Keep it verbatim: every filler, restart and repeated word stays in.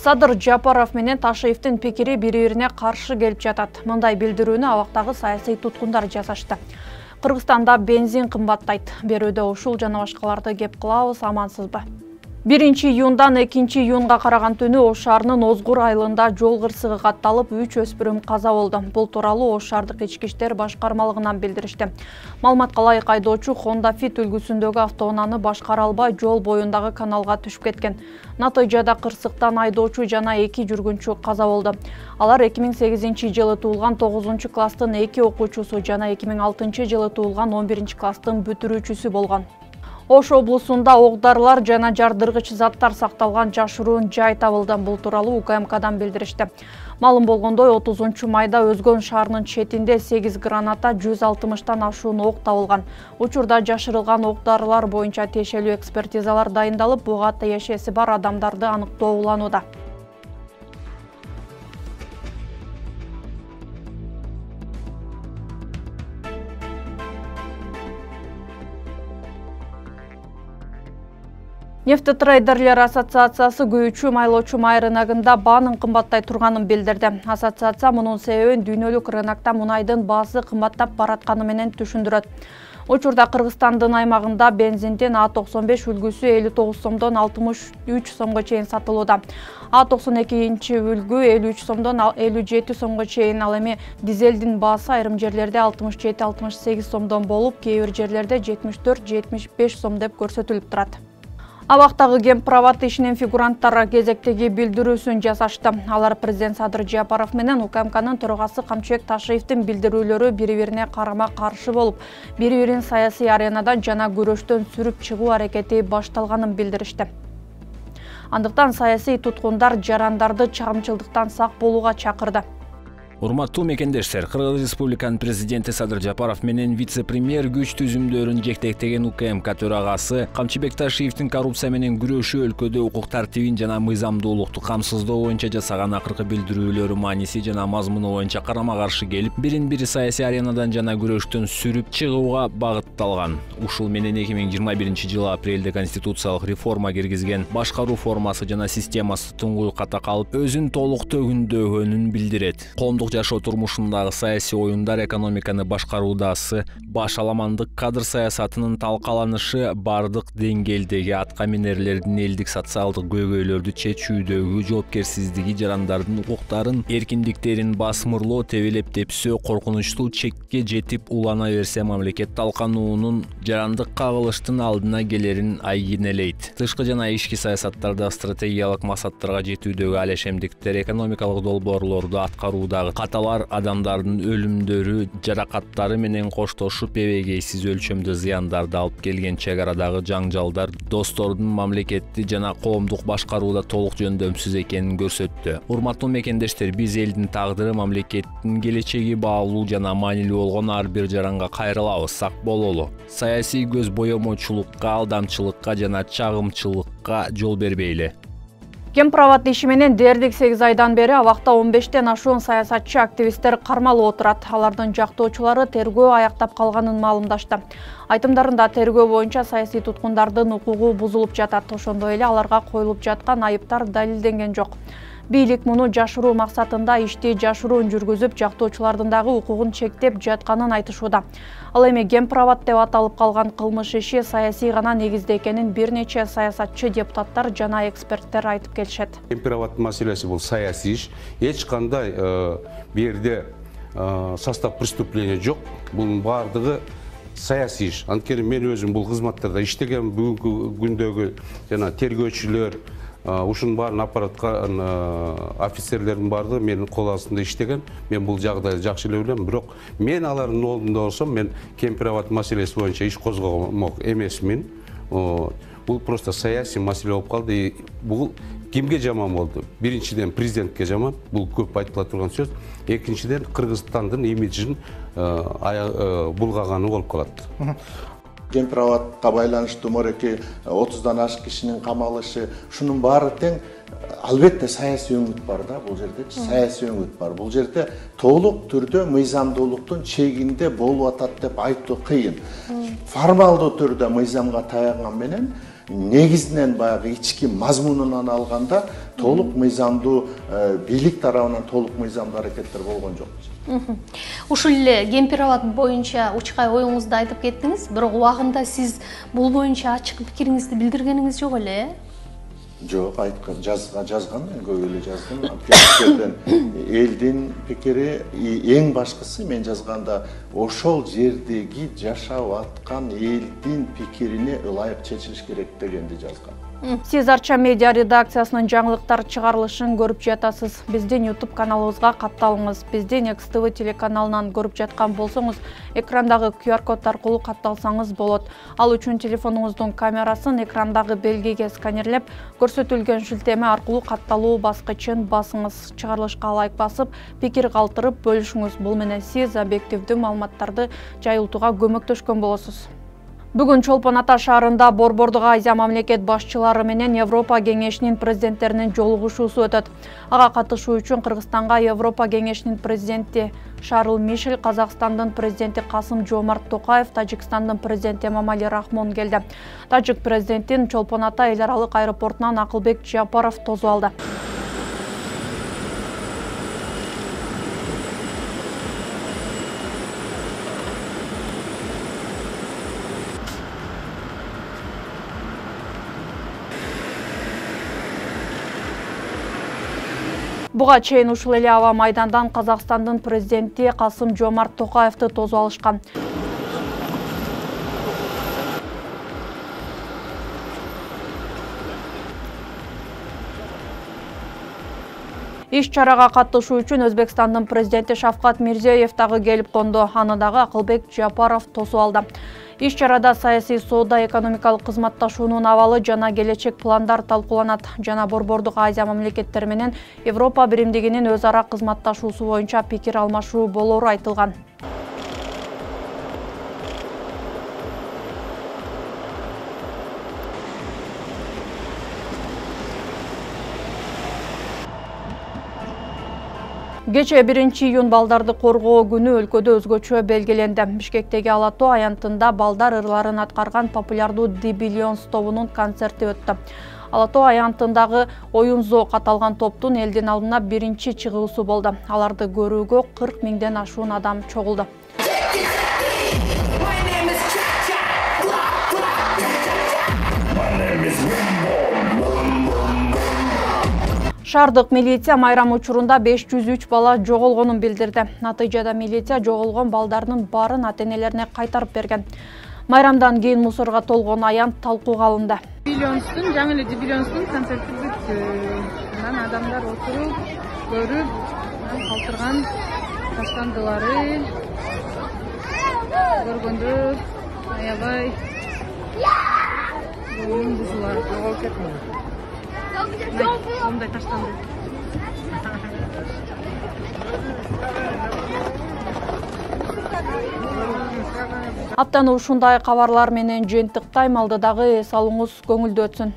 Садыр Жапаров менен Ташиевдин пикири бири-бирине каршы келип жатат. Мындай билдирүүнү абактагы саясий туткундар жасашты. Кыргызстанда бензин кымбаттайт. Берүүдө ушул жана башкаларды кеп кылабыз, амансызбы? биринчи июндан экинчи июнга караган түнү Ош шаарынын Озгур айылында жол кырсыгы катталып, үч өспүрүм каза болду. Бул тууралуу Ош шаардык ички иштер башкармалыгынан билдиришти. Маалыматка ылайык, айдоочу Honda Fit үлгүсүндөгү автоунааны башкара албай жол боюндагы каналга түшүп кеткен. Натыйжада кырсыктан айдоочу жана эки жүргүнчү каза болду. Алар эки миң сегизинчи жылы туулган тогузунчу класстын эки окуучусу жана эки миң алтынчы жылы туулган он биринчи класстын бүтүрүүчүсү болгон. Ош облусунда ок-дарылар жана жардыргыч заттар сакталган жашыруун жай табылды. Бул тууралуу У К М Кдан билдиришти. Маалым болгондой, отузунчу майда Өзгөн шаарынын четинде сегиз граната, жүз алтымыштан ашуун ок табылган. Учурда жашырылган ок-дарылар боюнча тиешелүү экспертизалар дайындалып, буга тиешеси бар адамдарды аныктоо уланууда. Нефтетрейдерлер ассоциациясы күйүүчү майлоочу май рыногунда баанын кымбаттай турганын билдирди. Ассоциация мунун себебин дүйнөлүк рынокто мунайдын баасы кымбаттап баратканы менен түшүндүрөт. Учурда Кыргызстандын аймагында бензиндин А токсон беш үлгүсү элүү тогуз сомдон алтымыш үч сомго чейин сатылууда. А токсон экинчи үлгү элүү үч сомдон элүү жети сомго чейин, ал эми дизелдин баасы айрым жерлерде алтымыш жети алтымыш сегиз сомдон болуп, кээ бир жерлерде жетимиш төрт жетимиш беш сом деп көрсөтүлүп турат. Абактагы Гемпровод ишинин фигуранттары кезектеги билдирүүсүн жасашты. Алар президент Садыр Жапаров менен У К М Кнын төрагасы Камчыбек Ташиевдин билдирүүлөрү бири-бирине карама-каршы болуп, бири-бирин саясий аренадан жана күрөштөн сүрүп чыгуу аракети башталганын билдиришти. Андыктан саясий туткундар жарандарды чагымчылдыктан сак болууга чакырды. Урматтуу мекендештер, Кыргыз Республиканын президенти Садыр Жапаров менен вице-премьер күч түзүмдөрүн жектектеген У К М К төрагасы Камчыбек Ташиевдин коррупция менен күрөшүү, өлкөдө укук тартибин жана мыйзамдуулукту камсыздоо боюнча жасаган акыркы билдирүүлөрү мааниси жана мазмуну боюнча карама-каршы келип, бирин-бири саясий аренадан жана күрөштөн сүрүп чыгууга багытталган. Ушул менен эки миң жыйырма биринчи жылы апрелде конституциялык реформа киргизген башкаруу формасы жана системасы туңгуюкка такалып, өзүн толук төгүндөгөнүн билдирет. Коомдук жашоо турмушундагы саясий оюндар, экономиканы башкаруудагы баш аламандык, кадр саясатынын талкаланышы, бардык деңгээлдеги атка минерлердин элдик социалдык көйгөйлөрдү чечүүдөгү жоопкерсиздиги, жарандардын укуктарын, эркиндиктерин басмырлоо, тебелеп тепсөө, коркунучтуу чекке жетип улана берсе, мамлекет талкануунун жарандык кагылыштын алдына келерин айгинелейт. Тышкы жана ички саясаттарда стратегиялык максаттарга жетүүдөгү алешемдиктер, экономикалык долбоорлорду аткаруудагы каталар, адамдардын өлүмдөрү, жаракаттары менен коштошуп эбегейсиз өлчөмдө зыяндарды алып келген чек арадагы жаңжалдар достордун мамлекетти жана коомдук башкарууда толук жөндөмсүз экенин көрсөттү. Урматтуу мекендештер, биз элдин тагдыры, мамлекеттин келечеги баалуу жана маанилүү болгон ар бир жаранга кайрылабыз, сак бололу. Саясий көз боемочулукка, алдамчылыкка жана чагымчылыкка жол бербейли. Гемпровод иши менен дээрлик сегиз айдан бери абакта он бештен ашуун саясатчы, активисттер кармалып отурат. Алардын жактоочулары тергөө аяктап калганын маалымдашты. Айтымдарында тергөө боюнча саясий туткундардын укугу бузулуп жатат. Ошондой эле аларга коюлуп жаткан айыптар далилденген жок. Бийлик муну жашыруу максатында ишти жашыруун жүргүзүп, жактоочулардын дагы укугун чектеп жатканын айтышууда. Ал эми Гемпровод деп аталып калган кылмыш иши саясий гана негизде экенин бир нече саясатчы, депутаттар жана эксперттер айтып келишет. Гемпровод маселеси бул саясий иш. Эч кандай бу жерде состав преступления жок. Бунун бардыгы саясий иш. Анткени мен өзүм бул кызматтарда иштеген, бүгүнкү күндөгү жана тергөөчүлөр, ушунун баарын аппараткан офицерлердин бардыгы менин кол астында иштеген. Мен бул жагдайды жакшы эле билем, бирок мен алардын ордунда болсом, мен Гемпровод маселеси боюнча иш козгомок эмесмин. Бул просто саясий маселе болуп калды. Бул кимге жаман болду? Биринчиден президентке жаман, бул көп айтыла турган сөз. Экинчиден Кыргызстандын имиджин булгаганы болуп калат. Гемпроводко байланыштуу мореки отуздан ашык кишинин камалышы, ушунун баары тең албетте саясий өңүт бар да, бул жерде саясий өңүт бар. Бул жерде толук түрдө мыйзамдуулуктун чегинде болуп атат деп айтуу кыйын. Формалдуу түрдө мыйзамга таянган менен негизинен баягы ички мазмунунан алганда толук мыйзамдуу бийлик тарабынан толук мыйзамдуу аракеттер болгон жок. Ушул эле Кемпир абад боюнча учкай оюңузду айтып кеттиңиз, бирок убагында сиз бул боюнча ачык пикириңизди билдиргениңиз жок эле, э? Жок, айткан, жазга жазган, мен көп эле жаздым. Элдин пикири, эң башкысы мен жазганда ошол жердеги жашап аткан элдин пикирине ылайык чечилиш керек дегенди жазган. Сиз Арча медиа редакциясынын жаңылыктар чыгарылышын көрүп жатасыз. Биздин YouTube каналыбызга катталыңыз. Биздин Экс Тэ Вэ телеканалынан көрүп жаткан болсоңуз, экрандагы ку ар код аркылуу катталсаңыз болот. Ал үчүн телефонуңуздун камерасын экрандагы белгиге сканерлеп, көрсөтүлгөн шилтеме аркылуу катталуу баскычын басыңыз. Чыгарылышка лайк басып, пикир калтырып бөлүшүңүз. Бул менен сиз объективдүү маалыматтарды жайылтууга көмөктөшкөн болосуз. Бүгүн Чолпон Ата шаарында Борбордук Азия мамлекет башчылары менен Европа кеңешинин президенттеринин жолугушуусу өтөт. Ага катышуу үчүн Кыргызстанга Европа кеңешинин президенти Шарл Мишель, Казакстандын президенти Касым Жомарт Токаев, Тажикстандын президенти Эмомали Рахмон келди. Тажик президентин Чолпон Ата эл аралык аэропортунан Акылбек Жапаров тосуп алды. Буга чейин ушул эле аба майдандан Казакстандын президенти Касым Жомарт Токаевди тосуп алышкан. Иш чарага катышуу үчүн Өзбекстандын президенти Шавкат Мирзиёев дагы келип конду. Аны дагы Акылбек Жапаров тосуп алды. Иш чарада саясий соода, экономикалык кызматташуунун абалы жана келечек пландар талкууланат. Жана Борбордук Азия мамлекеттери менен Европа биримдигинин өз ара кызматташуусу боюнча пикир алмашуу болору айтылган. Кечээ биринчи июнь балдарды коргоо күнү өлкөдө өзгөчө белгиленди. Бишкектеги Ала Тоо аянтында балдар ырларын аткарган популярдуу The Billions тобунун концерти өттү. Ала Тоо аянтындагы оюн зоок аталган топтун элдин алдына биринчи чыгуусу болду. Аларды көрүүгө кырк миңден ашуун адам чогулду. Шаардык милиция майрам учурунда беш жүз үч бала жоголгонун билдирди. Натыйжада милиция жоголгон балдардын баарын ата-энелерине кайтарып берген. Майрамдан кийин мусорго толгон аянт талкууга алынды. Billions'un, жаңы эле Billions'ун концерти бүттү. Анан адамдар отуруп, көрүп, калтырган таштандылары көргөндө аябай буунун бузулар жоголуп кетти. Сондай таштанды. Аптаны ушундай кабарлар менен жыйынтыктайм. Алдыдагы эс алууңуз көңүлдүү өтсүн.